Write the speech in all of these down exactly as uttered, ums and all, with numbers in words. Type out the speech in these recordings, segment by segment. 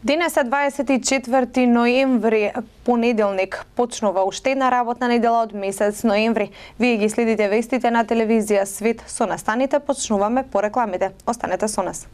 Денес е дваесет и четврти ноември, понеделник. Почнува уште една работна недела од месец ноември. Вие ги следите вестите на телевизија Свет. Со настаните почнуваме по рекламите. Останете со нас.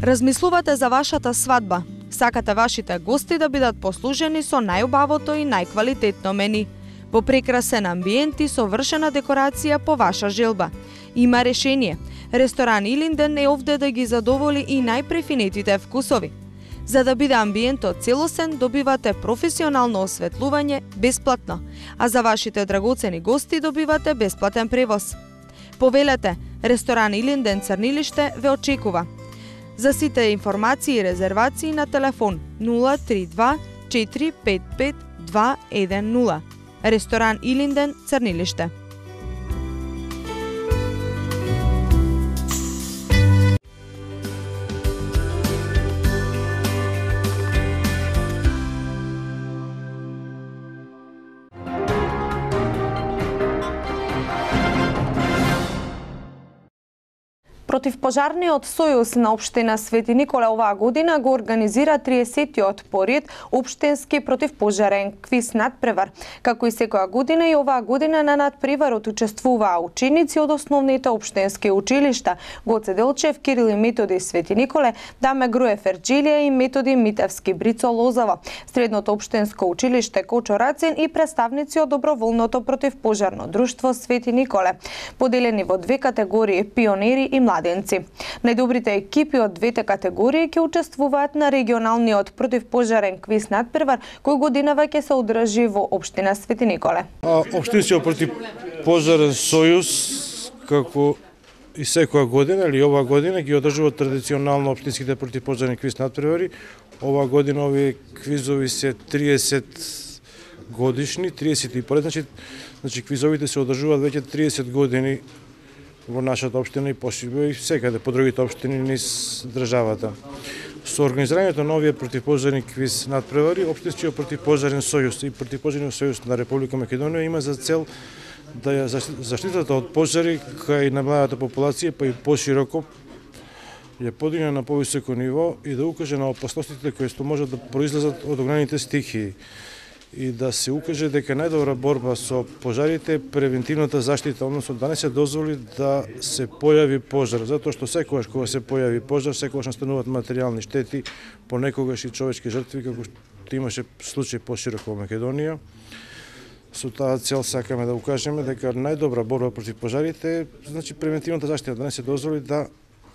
Размислувате за вашата свадба. Сакате вашите гости да бидат послужени со најубавото и најквалитетно мени. Во прекрасен амбиент и совршена декорација по ваша желба. Има решение. Ресторан Илинден е овде да ги задоволи и најпрефинетите вкусови. За да биде амбиентот целосен, добивате професионално осветлување бесплатно, а за вашите драгоцени гости добивате бесплатен превоз. Повелете, ресторан Илинден Црнилиште ве очекува. За сите информации и резервации на телефон нула три два четири пет пет два еден нула. Ресторан Илинден Црнилиште. Противпожарниот сојуз на општина Свети Николе оваа година го организира триесеттиот поред општински противпожарен квиз надпревар. Како и секоја година, и оваа година на надпреварот учествуваа ученици од основните општински училишта Гоце Делчев, Кирил и Методи Свети Николе, Даме Груев Ерџелија и Методи Митевски Брицо Лозово, Средното општинско училиште Кочо Рацин и представници од доброволното противпожарно друштво Свети Николе, поделени во две категории пионери и млади. Најдобрите екипи од двете категории ќе учествуваат на регионалниот противпожарен квиз надпревар, кој годинава ќе се одржи во општина Свети Николе. Општинскиот противпожарен сојуз, како и секоја година или оваа година, ги одржува традиционално општинските противпожарни квиз надпревари. Оваа година овие квизови се триесет годишни, триесет и прв, значи, значи квизовите се одржуваат веќе триесет години во нашата општина и пошире и секаде по другите општини низ државата. Со организирањето на овие противпожарни квиз надпревари, Општинскиот противпожарен сојуз и противпожарниот сојуз на Република Македонија има за цел да ја заштитата од пожари кај на младата популација, па и пошироко ја подигне на повисоко ниво и да укаже на опасностите кои што можат да произлезат од огнените стихии и да се укаже дека најдобра борба со пожарите е превентивната заштита, односно да не се дозволи да се појави пожар, затоа што секогаш кога се појави пожар, секогаш настануваат материјални штети, понекогаш и човечки жртви, како што имаше случај пошироко во Македонија. Со таа цел сакаме да укажеме дека најдобра борба против пожарите е значи превентивната заштита, да не се дозволи да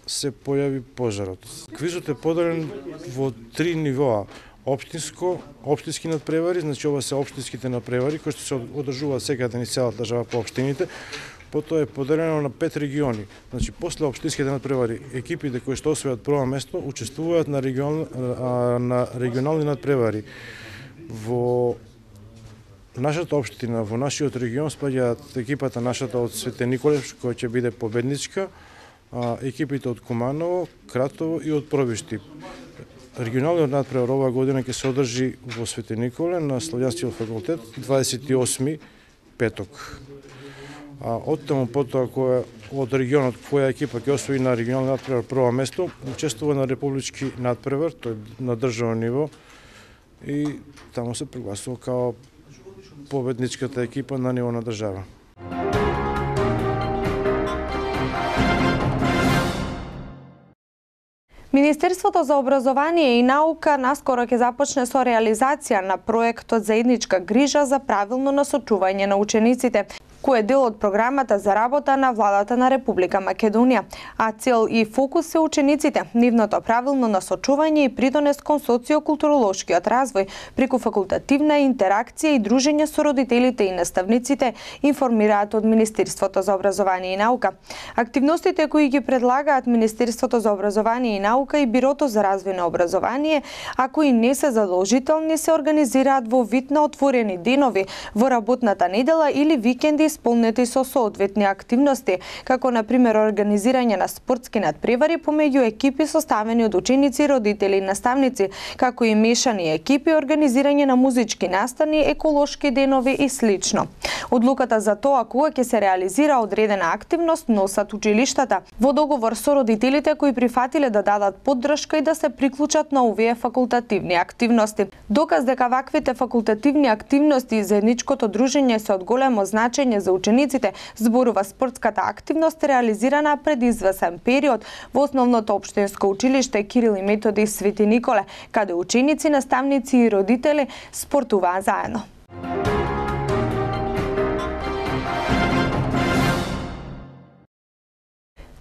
се појави пожарот. Квизот е поделен во три нивоа. Општинско, општински надпревари, значи ова се општинските надпревари кои што се одржуваат секаде низ целата држава по општините. Потоа е поделено на пет региони. Значи после општинските надпревари екипите кои што освојат прво место учествуваат на регион на регионални надпревари. Во нашата општина, во нашиот регион спаѓаат екипата нашата од Свети Николе која ќе биде победничка, екипите од Куманово, Кратово и од Пробишти. Регионалниот надпревар оваа година ќе се одржи во Свети Николе на Славјанскиот факултет дваесет и осми петок. А од таму потоа која од регионот која екипа ќе освои на регионалниот надпревар прво место, учествува на републички надпревар, тој на државно ниво и таму се прогласува као победничката екипа на ниво на држава. Министерството за образование и наука наскоро ќе започне со реализација на проектот Заедничка грижа за правилно насочување на учениците. кој е дел од програмата за работа на владата на Република Македонија, а цел и фокус се учениците, нивното правилно насочување и придонес кон социокултуролошкиот развој преку факултативна интеракција и дружење со родителите и наставниците, информираат од Министерството за образование и наука. Активностите кои ги предлагаат Министерството за образование и наука и Бирото за развој на образование, а кои не се задолжителни, се организираат во вид на отворени денови во работната недела или викенди исполнети со соодветни активности, како на пример организирање на спортски надпревари помеѓу екипи составени од ученици, родители и наставници, како и мешани екипи, организирање на музички настани, еколошки денови и слично. Одлуката за тоа кога ќе се реализира одредена активност носат училиштата во договор со родителите кои прифатиле да дадат поддршка и да се приклучат на овие факултативни активности. Доказ дека ваквите факултативни активности и заедничкото дружење се од големо значење за учениците, зборува спортската активност реализирана пред извесен период во основното општинско училиште Кирил и Методи Свети Николе, каде ученици, наставници и родители спортуваа заедно.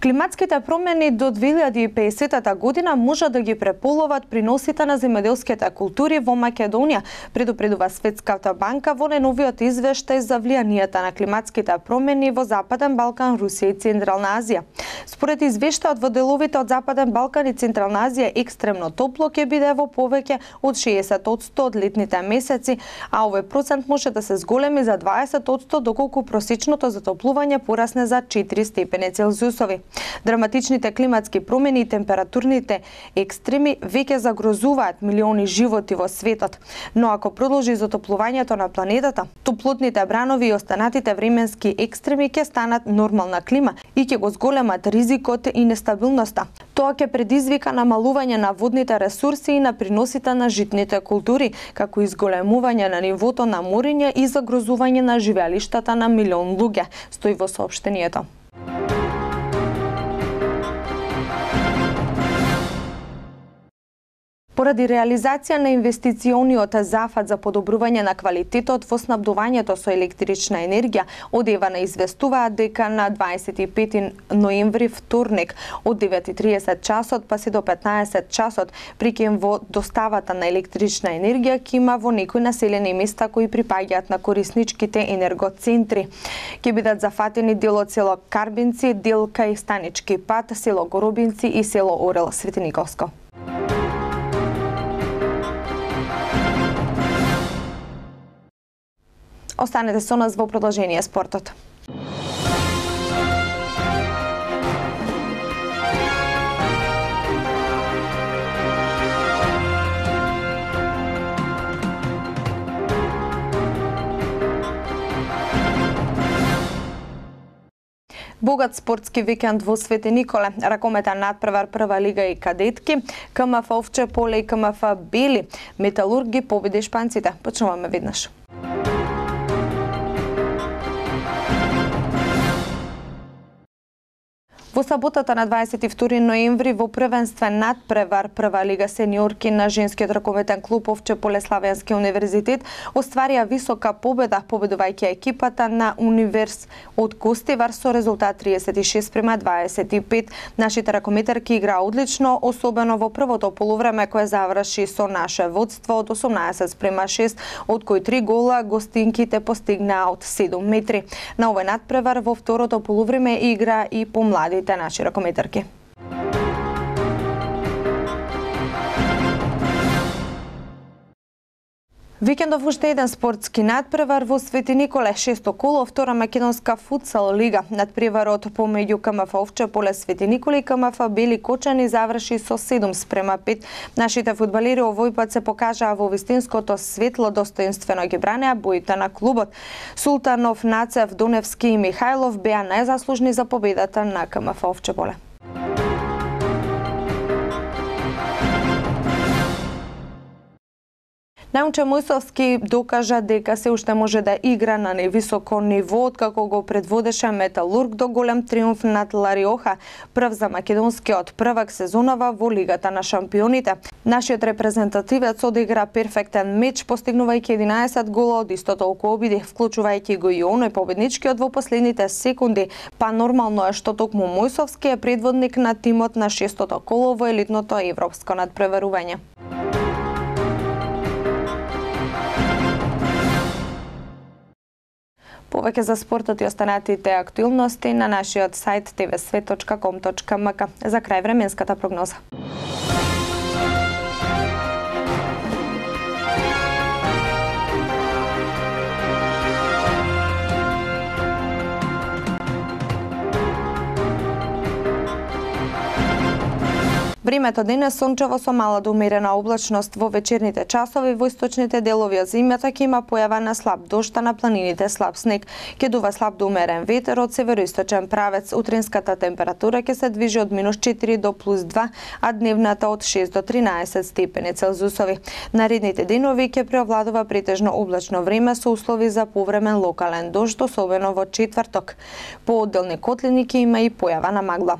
Климатските промени до две илјади и песетата година може да ги преполуват приносите на земјоделските култури во Македонија, предупредува Светската банка во најновиот извештај за влијанието на климатските промени во Западен Балкан, Русија и Централна Азија. Според извештајот, во деловите од Западен Балкан и Централна Азија екстремно топло ќе биде во повеќе од шеесет одсто од летните месеци, а овој процент може да се зголеми за дваесет одсто доколку просечното затоплување порасне за четири степени Целзиусови. Драматичните климатски промени и температурните екстреми веќе загрозуваат милиони животи во светот, но ако продолжи затоплувањето на планетата, топлотните бранови и останатите временски екстреми ќе станат нормална клима и ќе го зголемат ризикот и нестабилноста. Тоа ќе предизвика намалување на водните ресурси и на приносите на житните култури, како и зголемување на нивото на мориња и загрозување на живеалиштата на милион луѓе, стои во соопштението. Поради реализација на инвестициониот зафат за подобрување на квалитетот во снабдувањето со електрична енергија, од Евана известуваат дека на дваесет и пети ноември, вторник, од девет и триесет часот па се до петнаесет часот, прикем во доставата на електрична енергија ќе има во некои населени места кои припаѓаат на корисничките енергоцентри. Ќе бидат зафатени дел од село Карбинци, дел кај Станички пат, село Горобинци и село Орел Светиниковско. Останете со нас во продолжение спортот. Богат спортски викенд во Свети Николе, ракометен надпревар прва лига и кадетки, КМФ Овче поле и КМФ Бели, Металург ги победи шпанците. Почнуваме веднаш. Во саботата на дваесет и втори ноември во првенствен надпревар прва лига сениорки на женскиот ракометен клуб Овче поле Славенски универзитет остварија висока победа, победувајќи екипата на Универс од Костивар со резултат триесет и шест спрема дваесет и пет. Нашите ракометарки играа одлично, особено во првото полувреме кое заврши со наше водство од осумнаесет спрема шест, од кои три гола гостинките постигнаа од седум метри. На овој надпревар во второто полувреме игра и помладите наши ракометарки. Викендов уште еден спортски надпревар во Свети Николе, шесто коло, втора македонска футсал лига. Надпреварот помеѓу КМФ Овче поле Свети Николе и КМФ Бели Кочани заврши со седум спрема пет. Нашите фудбалери овој пат се покажаа во вистинското светло, достоинствено ги бранеа боите на клубот. Султанов, Нацев, Доневски и Михајлов беа најзаслужни за победата на КМФ Овче поле. Немче Мојсовски докажа дека се уште може да игра на невисоко ниво, откако го предводеше Металург до голем триумф над Лариоха, прв за македонскиот првак сезонава во Лигата на шампионите. Нашиот репрезентативец одигра перфектен меч, постигнувајќи единаесет гола од исто толку обиди, вклучувајќи го и оној победничкиот во последните секунди, па нормално е што токму Мојсовски е предводник на тимот на шестото коло во елитното европско надпреварување. Повеќе за спортот и останатите актуелности на нашиот сајт те ве свет точка ком точка ем ка. За крај временската прогноза. Времето денес сончево со мала до умерена облачност. Во вечерните часови во источните делови од земјата ќе има појава на слаб дожд, а на планините слаб снег. Ќе дува слаб до умерен ветер од североисточен правец. Утринската температура ќе се движи од минус четири до плюс два, а дневната од шест до тринаесет степени Целзиусови. Наредните денови ќе преовладува претежно облачно време со услови за повремен локален дожд, особено во четврток. По одделни котлини ќе има и појава на магла.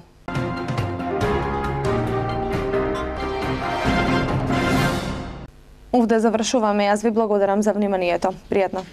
Овде завршуваме. Јас ви благодарам за вниманието. Пријатно.